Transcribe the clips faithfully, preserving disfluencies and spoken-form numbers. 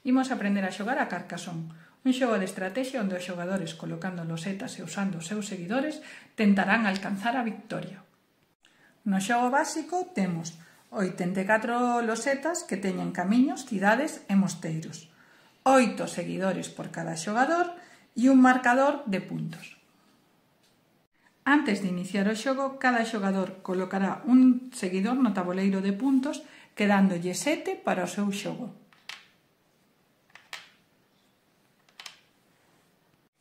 Imos aprender a xogar a Carcassonne, un xogo de estrategia onde os xogadores, colocando losetas e usando os seus seguidores, tentarán alcanzar a victoria. No xogo básico temos oitenta e catro losetas que teñen camiños, cidades e mosteiros, oito seguidores por cada xogador e un marcador de puntos. Antes de iniciar o xogo, cada xogador colocará un seguidor no taboleiro de puntos, quedándolle sete para o seu xogo.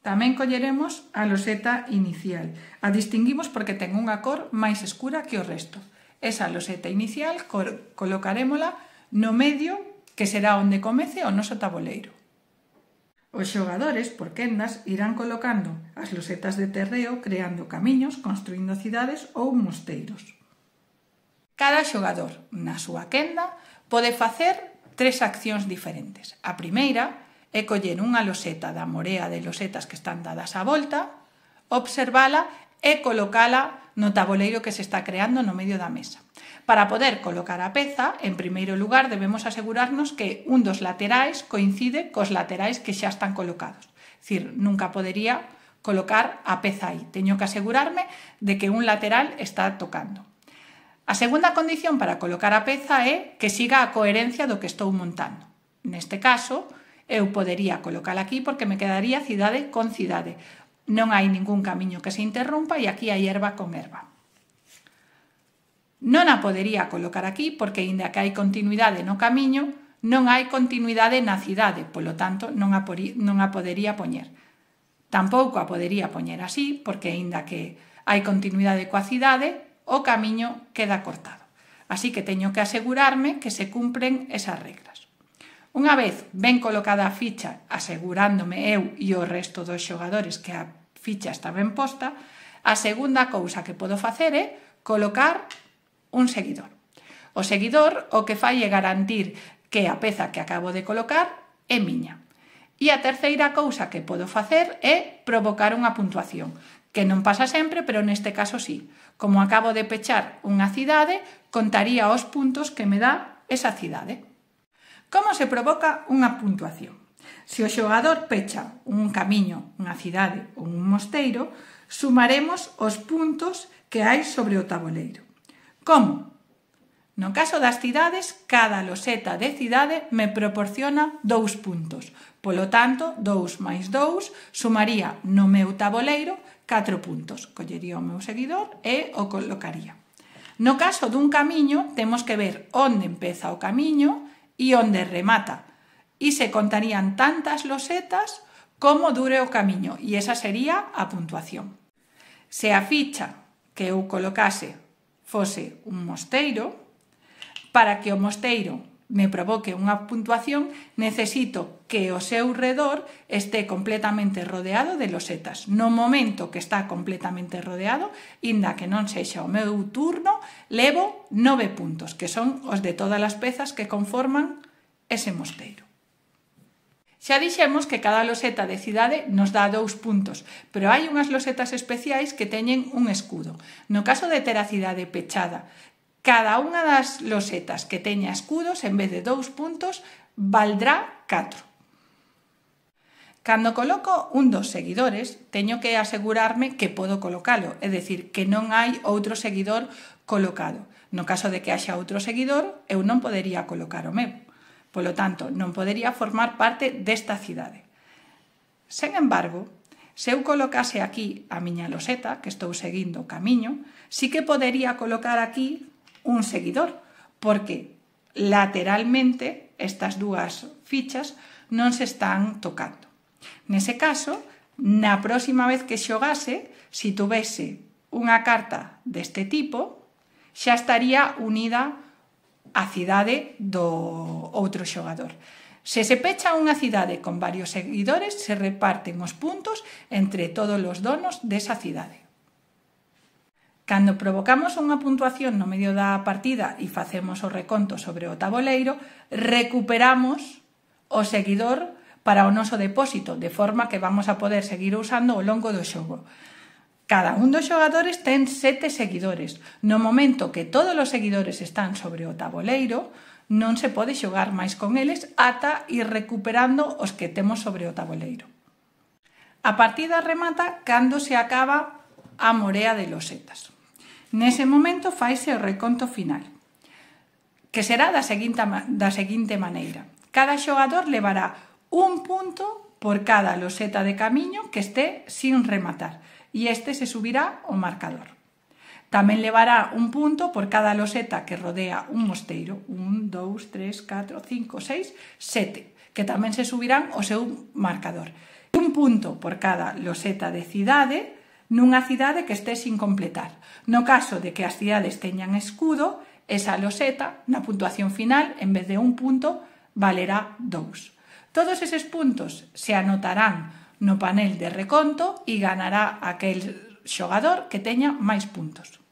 Tamén colleremos a loseta inicial. A distinguimos porque ten unha cor máis escura que o resto. Esa loseta inicial colocarémola no medio, que será onde comece o noso taboleiro. Os xogadores, por quendas, irán colocando as losetas de terreo, creando camiños, construindo cidades ou mosteiros. Cada xogador, na súa quenda, pode facer tres accións diferentes. A primeira é coller unha loseta da morea de losetas que están dadas á volta, observala e colocala no taboleiro que se está creando no medio da mesa. Para poder colocar a peza, en primeiro lugar debemos asegurarnos que un dos laterais coincide cos laterais que xa están colocados. É dicir, nunca podería colocar a peza aí. Teño que asegurarme de que un lateral está tocando. A segunda condición para colocar a peza é que siga a coherencia do que estou montando. Neste caso, eu podería colocala aquí porque me quedaría cidade con cidade. Non hai ningún camiño que se interrompa e aquí hai herba con herba. Non a podería colocar aquí porque, inda que hai continuidade no camiño, non hai continuidade na cidade, polo tanto, non a, non a podería poñer. Tampouco a podería poñer así porque, inda que hai continuidade coa cidade, o camiño queda cortado. Así que teño que asegurarme que se cumpren esas regras. Unha vez ben colocada a ficha, asegurándome eu e o resto dos xogadores que a ficha está ben posta, a segunda cousa que podo facer é colocar un seguidor. O seguidor o que fai é garantir que a peza que acabo de colocar é miña. E a terceira cousa que podo facer é provocar unha puntuación, que non pasa sempre, pero neste caso sí. Como acabo de pechar unha cidade, contaría os puntos que me dá esa cidade. Como se provoca unha puntuación? Se o xogador pecha un camiño, unha cidade ou un mosteiro, sumaremos os puntos que hai sobre o taboleiro. Como? No caso das cidades, cada loseta de cidade me proporciona dous puntos. Polo tanto, dous máis dous sumaría no meu taboleiro catro puntos. Collería o meu seguidor e o colocaría. No caso dun camiño, temos que ver onde empeza o camiño e onde remata. E se contarían tantas losetas como dure o camiño. E esa sería a puntuación. Se a ficha que eu colocase fose un mosteiro, para que o mosteiro me provoque unha puntuación, necesito que o seu redor este completamente rodeado de losetas. No momento que está completamente rodeado, inda que non sexa o meu turno, levo nove puntos, que son os de todas as pezas que conforman ese mosteiro. Xa dixemos que cada loseta de cidade nos dá dous puntos, pero hai unhas losetas especiais que teñen un escudo. No caso de ter a cidade pechada, cada unha das losetas que teña escudos, en vez de dous puntos, valdrá catro. Cando coloco un dos seguidores, teño que asegurarme que podo colocalo, é dicir, que non hai outro seguidor colocado. No caso de que haxa outro seguidor, eu non podería colocar o meu. Polo tanto, non podería formar parte desta cidade. Sen embargo, se eu colocase aquí a miña loseta, que estou seguindo o camiño, sí que podería colocar aquí un seguidor, porque lateralmente estas dúas fichas non se están tocando. Nese caso, na próxima vez que xogase, se tuvese unha carta deste tipo, xa estaría unida a cidade do outro xogador. Se se pecha unha cidade con varios seguidores, se reparten os puntos entre todos os donos desa cidade. Cando provocamos unha puntuación no medio da partida e facemos o reconto sobre o taboleiro, recuperamos o seguidor para o noso depósito, de forma que vamos a poder seguir usando ao longo do xogo. Cada un dos xogadores ten sete seguidores. No momento que todos os seguidores están sobre o taboleiro, Non se pode xogar máis con eles ata ir recuperando os que temos sobre o tabuleiro. A partida remata cando se acaba a morea de losetas. Nese momento faise o reconto final, que será da seguinte, da seguinte maneira. Cada xogador levará un punto por cada loseta de camiño que este sin rematar e este se subirá ao marcador. Tamén levará un punto por cada loseta que rodea un mosteiro. un, dous, tres, catro, cinco, seis, sete, que tamén se subirán ao seu marcador. Un punto por cada loseta de cidade nunha cidade que este sin completar. No caso de que as cidades teñan escudo, esa loseta, na puntuación final, en vez de un punto, valerá dous. Todos eses puntos se anotarán no panel de reconto e ganará aquel xogador que teña máis puntos.